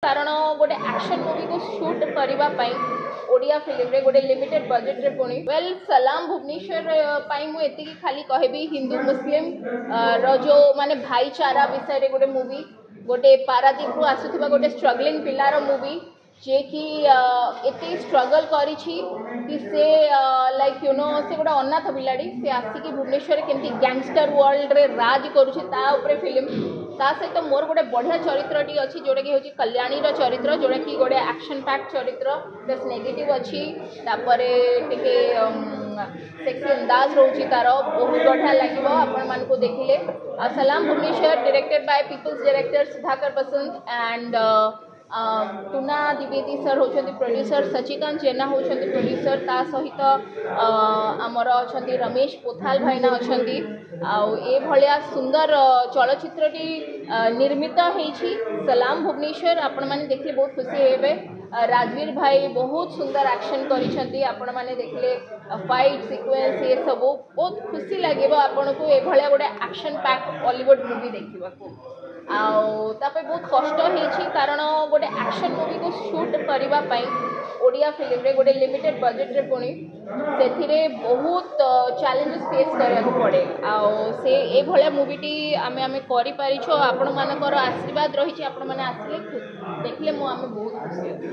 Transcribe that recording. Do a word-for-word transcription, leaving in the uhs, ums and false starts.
କାରଣ ଗୋଟେ action ମୁଭିକୁ shoot କରିବା ପାଇଁ ଓଡ଼ିଆ ଫିଲ୍ମରେ ଗୋଟେ ଲିମିଟେଡ୍ ବଜେଟ୍ରେ ପୁଣି ୱେଲ୍ ସଲାମ ଭୁବନେଶ୍ୱର ପାଇଁ ମୁଁ ଏତିକି ଖାଲି କହିବି ହିନ୍ଦୁ ମୁସଲିମ ର ଯେଉଁ ମାନେ ଭାଇଚାରା ବିଷୟରେ ଗୋଟେ ମୁଭି ଗୋଟେ ପାରାଦୀପରୁ ଆସୁଥିବା ଗୋଟେ ଷ୍ଟ୍ରଗଲିଂ ପିଲାର ମୁଭି ଯିଏକି ଏତେ ଷ୍ଟ୍ରଗଲ୍ କରିଛି କି ସେ ଲାଇକ୍ you know ସେ ଗୋଟେ ଅନାଥ ପିଲାଟି ସେ ଆସିକି ଭୁବନେଶ୍ୱରରେ କେମିତି ଗ୍ୟାଙ୍ଗଷ୍ଟର ୱାର୍ଲଡରେ ରାଜ କରୁଛି ତା ଉପରେ ଫିଲ୍ମ ତା ସହିତ ମୋର ଗୋଟେ ବଢ଼ିଆ ଚରିତ୍ରଟି ଅଛି ଯେଉଁଟାକି ହେଉଛି କଲ୍ୟାଣୀର ଚରିତ୍ର ଯେଉଁଟାକି ଗୋଟେ ଆକ୍ସନ୍ ପ୍ୟାକ୍ ଚରିତ୍ର ପ୍ଲସ୍ ନେଗେଟିଭ୍ ଅଛି ତାପରେ ଟିକେ ସେକ୍ସି ଅନ୍ଦାଜ ରହୁଛି ତାର ବହୁତ ବଢ଼ିଆ ଲାଗିବ ଆପଣମାନଙ୍କୁ ଦେଖିଲେ ଆଉ ସଲାମ Bhubaneswar directed by people's director Sudhakar Basant and Tuna ଦ୍ୱିବେଦୀ sir ହେଉଛନ୍ତି ପ୍ରଡ୍ୟୁସର ସଚିକାନ୍ତ ଜେନା ହେଉଛନ୍ତି ପ୍ରଡ୍ୟୁସର ତା ସହିତ ଆମର ଅଛନ୍ତି ରମେଶ ପୋଥାଲ ଭାଇନା ଅଛନ୍ତି ଆଉ ଏଭଳିଆ ସୁନ୍ଦର ଚଳଚ୍ଚିତ୍ରଟି ନିର୍ମିତ ହେଇଛି ସଲାମ ଭୁବନେଶ୍ୱର ଆପଣମାନେ ଦେଖିଲେ ବହୁତ ଖୁସି ହେବେ ରାଜବୀର ଭାଇ ବହୁତ ସୁନ୍ଦର ଆକ୍ସନ୍ କରିଛନ୍ତି ଆପଣମାନେ ଦେଖିଲେ ଫାଇଟ୍ ସିକ୍ୱେନ୍ସ ଏସବୁ ବହୁତ ଖୁସି ଲାଗିବ ଆପଣଙ୍କୁ ଏଭଳିଆ ଗୋଟେ ଆକ୍ସନ୍ ପ୍ୟାକ୍ ଅଲିଉଡ଼ ମୁଭି ଦେଖିବାକୁ ଆଉ ତା ପାଇଁ ବହୁତ କଷ୍ଟ ହେଇଛି କାରଣ ଗୋଟେ ଆକ୍ସନ୍ ମୁଭିକୁ ସୁଟ୍ କରିବା ପାଇଁ ଓଡ଼ିଆ ଫିଲ୍ମରେ ଗୋଟେ ଲିମିଟେଡ୍ ବଜେଟ୍ରେ ପୁଣି ସେଥିରେ ବହୁତ ଚ୍ୟାଲେଞ୍ଜେସ୍ ଫେସ୍ କରିବାକୁ ପଡ଼େ ଆଉ ସେ ଏଭଳିଆ ମୁଭିଟି ଆମେ ଆମେ କରିପାରିଛୁ ଆଉ ଆପଣମାନଙ୍କର ଆଶୀର୍ବାଦ ରହିଛି ଆପଣମାନେ ଆସିଲେ ଦେଖିଲେ ମୁଁ ଆମେ ବହୁତ ଖୁସି ହେବୁ।